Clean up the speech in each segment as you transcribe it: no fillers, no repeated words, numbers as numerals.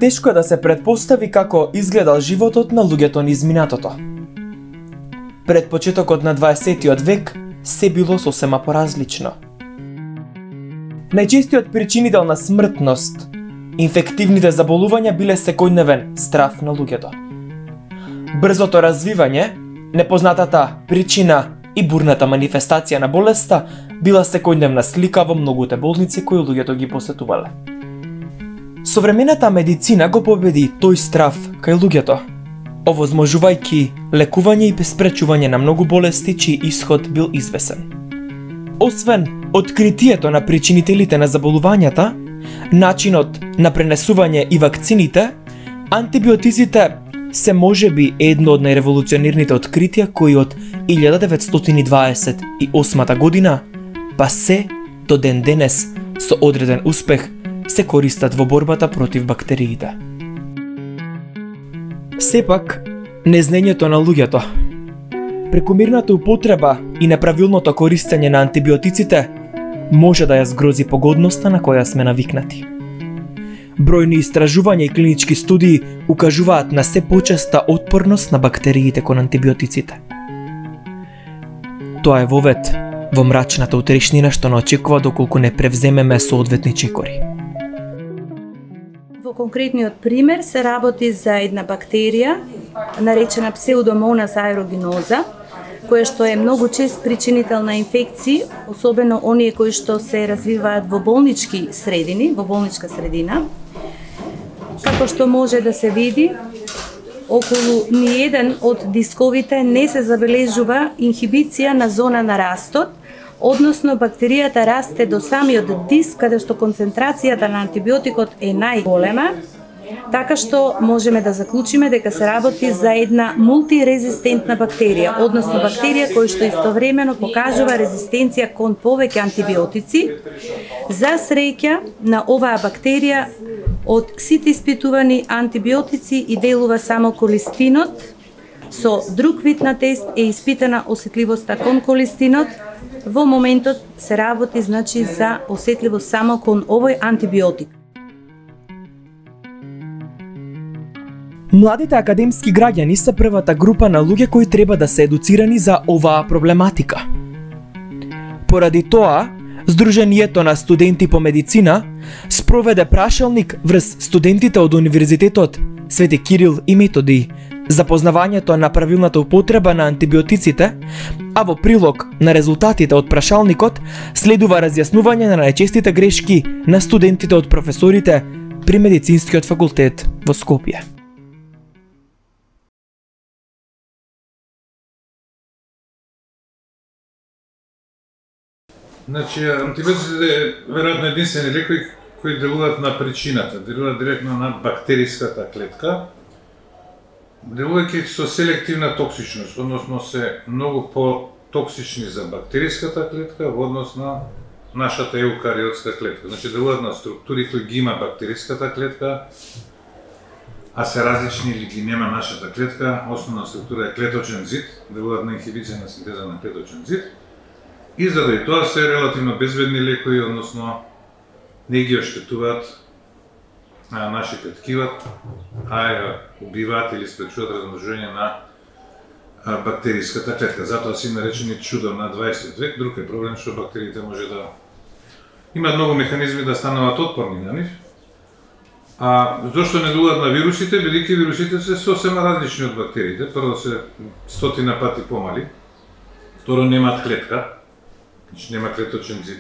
Тешко е да се предпостави како изгледал животот на луѓето низ минатото. Пред почетокот на 20-тиот век се било сосема поразлично. Најчестиот причинител на смртност, инфективните заболувања биле секојдневен страв на луѓето. Брзото развивање, непознатата причина и бурната манифестација на болеста била секојдневна слика во многуте болници кои луѓето ги посетувале. Современата медицина го победи тој страв кај луѓето, овозможувајќи лекување и спречување на многу болести чиј исход бил извесен. Освен откритието на причинителите на заболувањата, начинот на пренесување и вакцините, антибиотиците се можеби едно од најреволуционерните откритија кои од 1928 година па се до ден денес со одреден успех се користат во борбата против бактериите. Сепак, незнаењето на луѓето, прекомерната употреба и неправилното користење на антибиотиците може да ја згрози погодноста на која сме навикнати. Бројни истражувања и клинички студии укажуваат на се почеста отпорност на бактериите кон антибиотиците. Тоа е вовет во мрачната утрешнина што не очекува доколку не превземеме соодветни чекори. Во конкретниот пример се работи за една бактерија наречена Pseudomonas aeruginosa, која што е многу чест причинител на инфекции, особено оние кои што се развиваат во болнички средини, во болничка средина. Како што може да се види, околу ниеден од дисковите не се забележува инхибиција на зона на растот, односно бактеријата расте до самиот диск каде што концентрацијата на антибиотикот е најголема, така што можеме да заклучиме дека се работи за една мултирезистентна бактерија, односно бактерија која што истовремено покажува резистенција кон повеќе антибиотици. За среќа на оваа бактерија од сите испитувани антибиотици и делува само колистинот. Со друг вид на тест е испитана осетливоста кон колистинот. Во моментот се работи значи за осетливост само кон овој антибиотик. Младите академски граѓани се првата група на луѓе кои треба да се едуцирани за оваа проблематика. Поради тоа, Сдруженијето на студенти по медицина спроведе прашалник врз студентите од Универзитетот Свети Кирил и Методий за познавањето на правилната употреба на антибиотиците, а во прилог на резултатите од прашалникот следува разјаснување на најчестите грешки на студентите од професорите при Медицинскиот факултет во Скопје. Значи, антибиотиците веројатно единствени лекови кои делуваат на причината, делуваат директно на бактериската клетка, делувајќи со селективна токсичност, односно се многу по-токсични за бактериската клетка во однос на нашата еукариотска клетка. Значи, делуваат на структури кои ги има бактериската клетка, а се различни или ги нема нашата клетка. Основна структура е клеточен зид, делуваат на инхибиција на синтеза на клеточен зид. И заради тоа се релативно безбедни лекови, односно не ги оштетуваат нашите ткива, а ја убиваат или спречуваат размножување на бактериската клетка. Затоа се наречени чудо на 20 век. Друг е проблем што бактериите може да имаат многу механизми да стануваат отпорни на нив. А зошто не делуваат на вирусите, бидејќи вирусите се сосема различни од бактериите. Прво се 100 пати помали, второ немаат клетка, значи нема клеточен зид,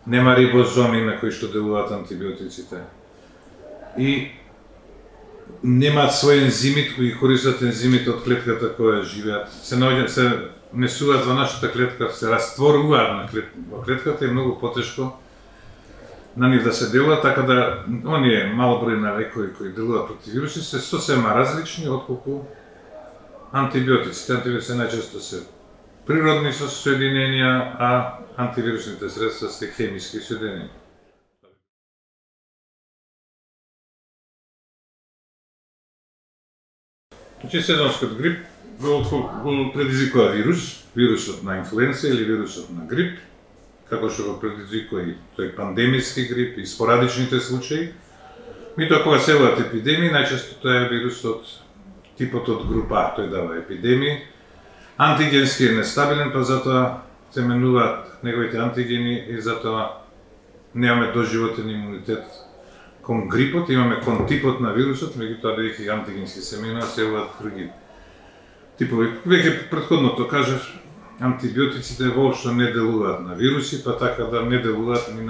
нема рибозоми на кои што делуваат антибиотиците и немаат свој ензимит кои користат ензимите од клетката која живеат. Се внесуваат во нашата клетка, се растворуваат во клетката и многу потешко на нив да се делуваат, така да оние мал број на лекови кои делуваат против вируси се сосема различни отколку антибиотиците. Антибиотиците најчесто се природни соединенија, а антивирусните средства се хемиски соединенија. Значи, сезонскиот грип го предизвикува вирусот на инфлуенца или вирусот на грип, како што го предизвикува и тој пандемиски грип и спорадичните случаи. Меѓутоа кога се водат епидемии, најчесто тоа е вирусот типот од група, тој дава епидемии. Антигенски е нестабилен, па затоа се менуваат неговите антигени и затоа немаме доживотен имунитет кон грипот, имаме кон типот на вирусот, меѓутоа бидејќи антигенски се менува, се водат други типови. Веќе претходното кажав, антибиотиците воопшто не делуваат на вируси, па така да не делуваат ни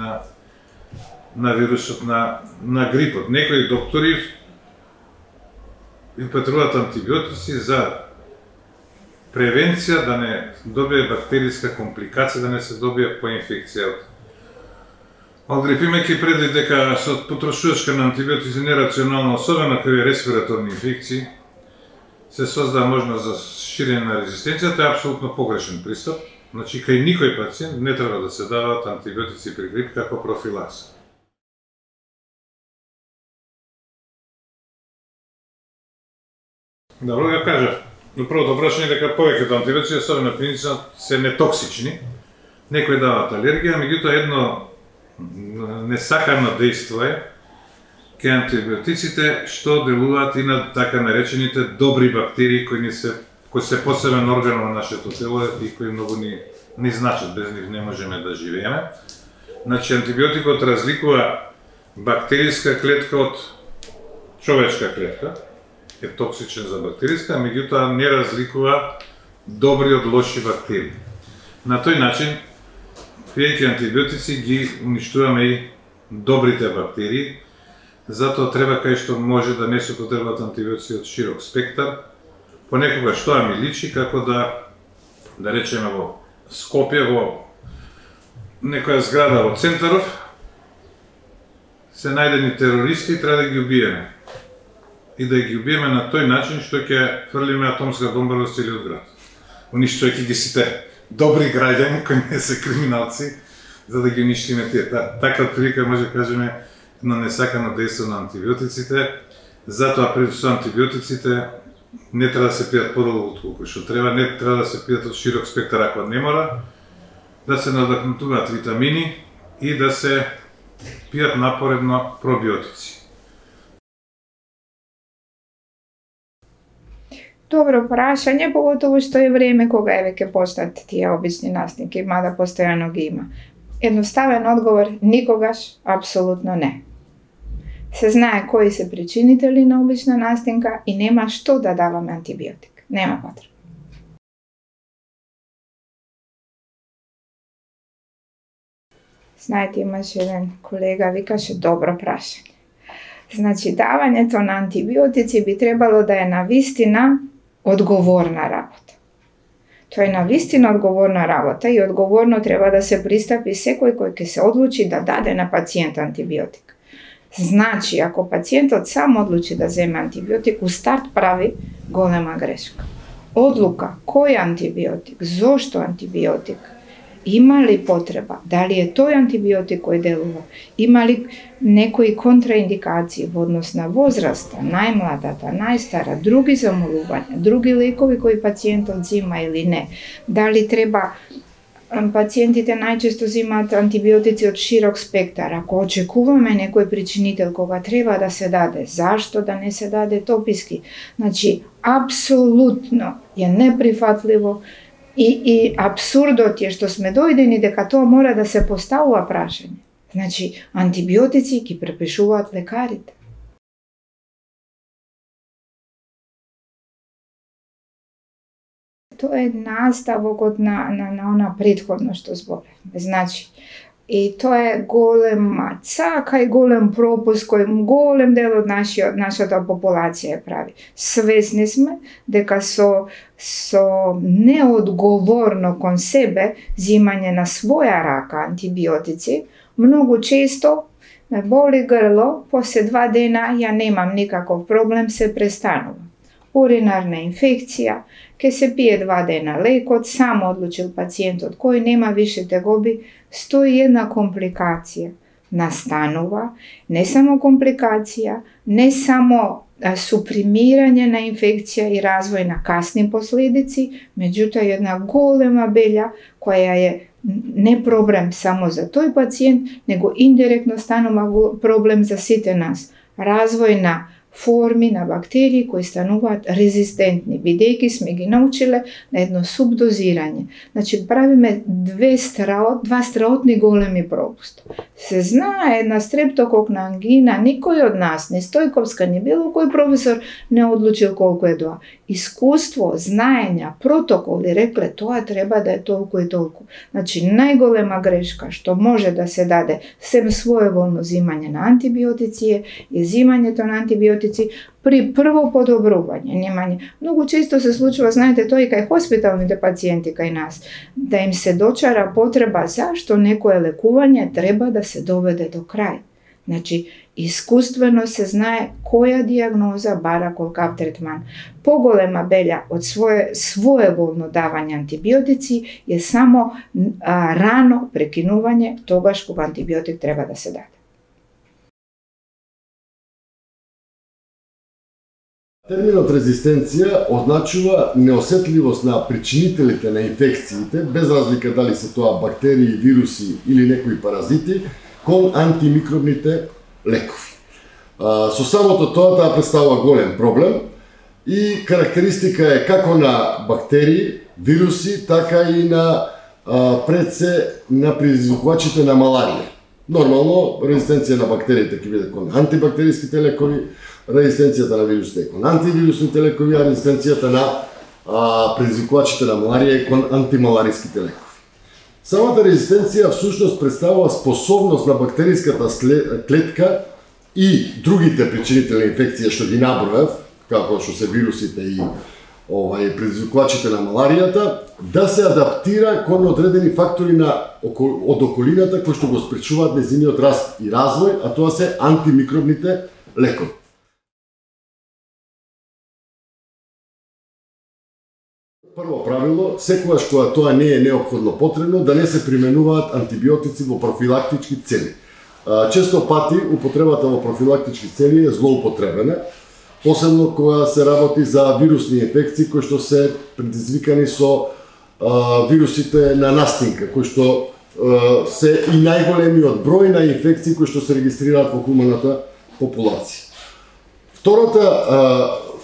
на вирусот на грипот. Некои доктори употребуваат антибиотици за превенција да не добие бактериска компликација, да не се добие поинфекција од грип. Имајќи предвид дека со потрошувачка на антибиотици нерационално, особено кај респираторни инфекции, се создава можност за ширење на резистенцијата, е апсолутно погрешен пристап. Значи, кај никој пациент не треба да се даваат антибиотици при грип како профилакса. Добро ја кажав. Но првото прашање дека повеќето антибиотици, особено клинично, се нетоксични. Некои даваат алергија, меѓутоа едно несакано дејство е кај антибиотиците што делуваат и на така наречените добри бактерии кои се посебен орган во нашето тело и кои многу ни значат, без нив не можеме да живееме. Значи антибиотикот разликува бактериска клетка од човечка клетка, е токсичен за бактериска, меѓутоа не разликува добри од лоши бактерии. На тој начин, пиејќи антибиотици ги уништуваме и добрите бактерии, затоа треба кај што може да не се употребуваат антибиотици од широк спектар. Понекогаш тоа ми личи како да речеме во Скопје, во некоја зграда во Центаров, се најдени терористи и треба да ги убиеме. И да ги убиеме на тој начин што ќе фрлиме атомска бомба во целиот град. Уништувајќи ги сите добри граѓани кои не се криминалци, за да ги уништиме тие. Така отприлика може да кажеме едно несакано дејство на антибиотиците. Затоа пред со антибиотиците не треба да се пијат подолго отколку што треба, не треба да се пијат од широк спектар ако не мора, да се надахнутуваат витамини и да се пијат напоредно пробиотици. Добро прашање, поготово што е време кога е веќе постат тие обични настинки, мада постојано ги има. Едноставен одговор, никогаш, апсолутно не. Се знае кои се причинители на обична настинка и нема што да даваме антибиотик. Нема потреба. Знаете, имаше еден колега, викаше добро прашање. Значи, давањето на антибиотици би требало да е навистина одговорна работа. Тоа е навистина одговорна работа и одговорно треба да се пристапи секој кој ќе се одлучи да даде на пациент антибиотик. Значи, ако пациентот сам одлучи да земе антибиотик, у старт прави голема грешка. Одлука, кој антибиотик, зошто антибиотик, има ли потреба, дали е тој антибиотик кој делува, има ли некои контраиндикации во однос на возраста, најмладата, најстара, други замолувања, други лекови кои пациентот зима или не, дали треба. Пациентите најчесто зимаат антибиотици од широк спектар. Ако очекуваме некој причинител кога треба да се даде, зашто да не се даде тописки? Значи, апсолутно е неприфатливо и апсурдот е што сме дојдени дека тоа мора да се поставува прашање. Значи, антибиотици ги препишуваат лекарите. Тоа е наставокот на она претходно што зборевме. Значи, и тоа е голема цака и голем пропуск кој голем дел од нашата популација прави. Свесни сме дека со неодговорно кон себе зимање на своја рака антибиотици, многу често ме боли грло, после 2 дена ја немам никаков проблем, се престанува. Уринарна инфекција, ке се пие 2 дена лекот, само одлучил пациентот кој нема више тегоби, стои една компликација. Настанува, не само компликација, не само супримирање на инфекција и развој на касни последици, меѓутоа една голема белја која е не проблем само за тој пациент, него индиректно станува проблем за сите нас. развој на форми на бактерии кои стануваат резистентни, бидејќи сме ги научиле на едно субдозирање. Значи, правиме два страотни големи пропуста. Се знае една стрептококна ангина, никој од нас, ни Стојковска, ни било кој професор не одлучил колку е тоа. Искуство, знаења, протоколи рекле тоа треба да е толку и толку. Значи, најголема грешка што може да се даде сем своеволно зимање на антибиотици е зимањето на антибиотици при прво подобрување, немање. Многу често се случува, знаете, тоа и кај хоспиталните пациенти кај нас, да им се дочара потреба зашто некое лекување треба да се доведе до крај. Значи, искуствено се знае која дијагноза бара колкав третман. Поголема белја од своеволно давање антибиотици е само рано прекинување тогаш кога антибиотик треба да се даде. Терминот резистенција означува неосетливост на причинителите на инфекциите, без разлика дали се тоа бактерии, вируси или некои паразити, кон антимикробните лекови. Со самото тоа таа представува голем проблем и карактеристика е како на бактерии, вируси, така и на пред се на предизвикувачите на маларија. Нормално, резистенција на бактериите ќе биде кон антибактериските лекови, резистенцијата на вирусите кон антивирусните лекови, а резистенцијата на предизвикувачите на маларија кон антималариските лекови. Самата резистенција всушност представува способност на бактериската клетка и другите причинители инфекција што ги набројав, како што се вирусите и предизвикувачите на маларијата, да се адаптира кон одредени фактори од околината кои што го спречуваат нејзиниот раст и развој, а тоа се антимикробните лекови. Прво правило, секогаш кога тоа не е неопходно потребно, да не се применуваат антибиотици во профилактички цели. Често пати употребата во профилактички цели е злоупотребена, посебно кога се работи за вирусни инфекции кои што се предизвикани со вирусите на настинка, кои што се и најголемиот број на инфекции кои што се регистрираат во хуманата популација.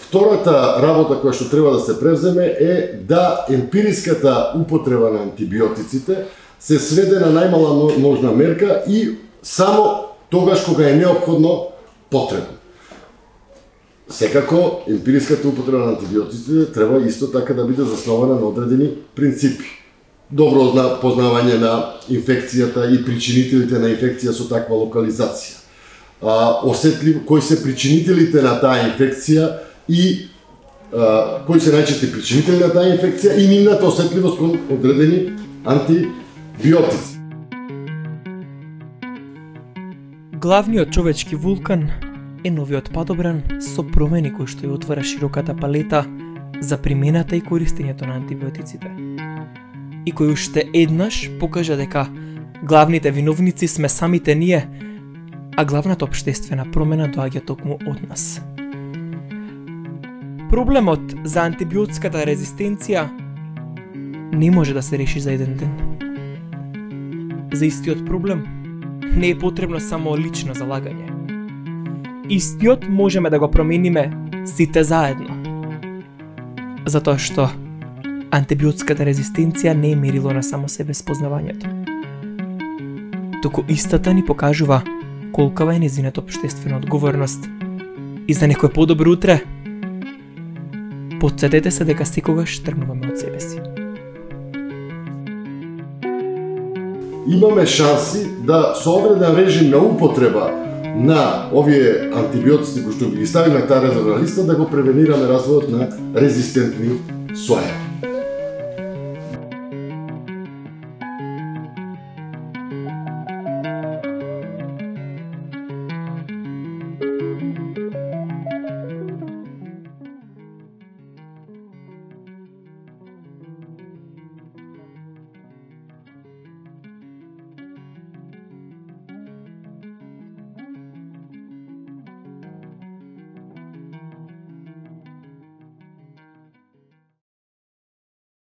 Втората работа која што треба да се превземе е да емпириската употреба на антибиотиците се сведе на најмала можна мерка и само тогаш кога е неопходно потребно. Секако, емпириската употреба на антибиотиците треба исто така да биде заснована на одредени принципи. Добро познавање на инфекцијата и причинителите на инфекција со таква локализација. Кои се причинителите на таа инфекција и кои се најчести причинители на таа инфекција и нивната осетливост кон одредени антибиотици. Главниот човечки вулкан е новиот падобран со промени кои што ја отвара широката палета за примената и користењето на антибиотиците. И кој уште еднаш покажа дека главните виновници сме самите ние, а главната општествена промена доаѓа токму од нас. Проблемот за антибиотската резистенција не може да се реши за еден ден. За истиот проблем не е потребно само лично залагање. Истиот можеме да го промениме сите заедно. Затоа што антибиотската резистенција не е мерило на само себе спознавањето. Туку истата ни покажува колкава е нејзината општествена одговорност. И за некој подобро утре, потсетете се дека секогаш тргнуваме од себе си. Имаме шанси да со одреден режим на употреба на овие антибиотици кои што ги ставиме на таа резервна листа да го превенираме развојот на резистентни соја.